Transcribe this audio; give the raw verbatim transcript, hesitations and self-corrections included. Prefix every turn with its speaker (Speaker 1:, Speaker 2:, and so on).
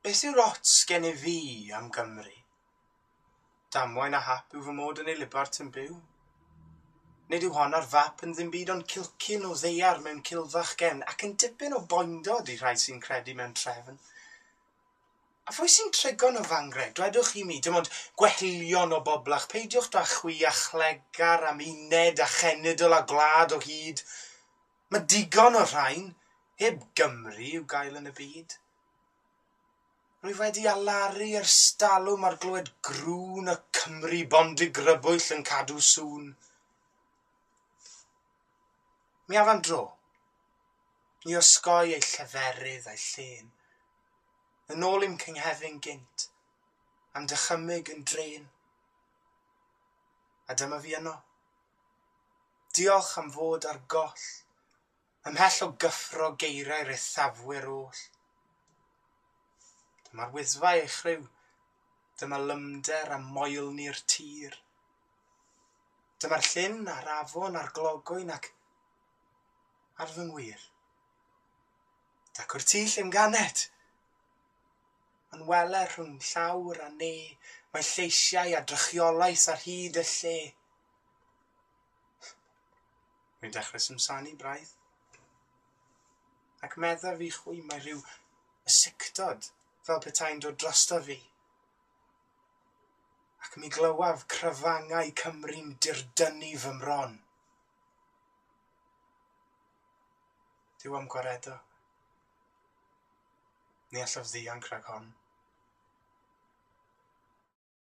Speaker 1: Beth yw'r ots gennyf fi am Gymru? Damwain a hap yw fy mod yn ei libart yn byw. Nid yw hon ar fap yn ddim byd ond cilcyn o ddaear mewn cilfach gefn ac yn dipyn o boendod i rhai sy'n credu mewn trefn. A phwy sy'n trigo'n y fangre? Dwedwch i mi, dim ond gwellion o boblach, peidiwch da chwi a chlegar am uned a chenedl a gwlad o hyd. Mae digon o rhain, heb Gymru i'w gael yn y byd. Rwy wedi alaru ers talwm ar glywed grŵn y Cymry bondigrybwyll yn cadw sŵn. Mi af am dro, i osgoi ei lleferydd a'i llên, yn ôl i'm cynghefin gynt, am dychymyg yn drên. A dyma fi yno. Diolch am fod ar goll, ymhell o gyffro geiriau'r eithafwyr oll. Dyma'r Wyddfa ei chryw, dyma lymder a moelni'r tir. Dyma'r llyn a'r afon a'r glogwyn ac ar fy ngwir. Dacw'r tŷ lle'm ganed. Yn wele rhwng llawr a ne, mae lleisiau a drychiolaeth ar hyd y lle. Rwy'n dechrau simsanu braidd. Ac meddaf i chwi mae rhyw ysictod fel petai'n dod drosto fi. Ac mi glywaf cryfangau Cymru'n dirdynnu fy mron. Duw am gwaredo. Ni allaf ddianc rhag hon.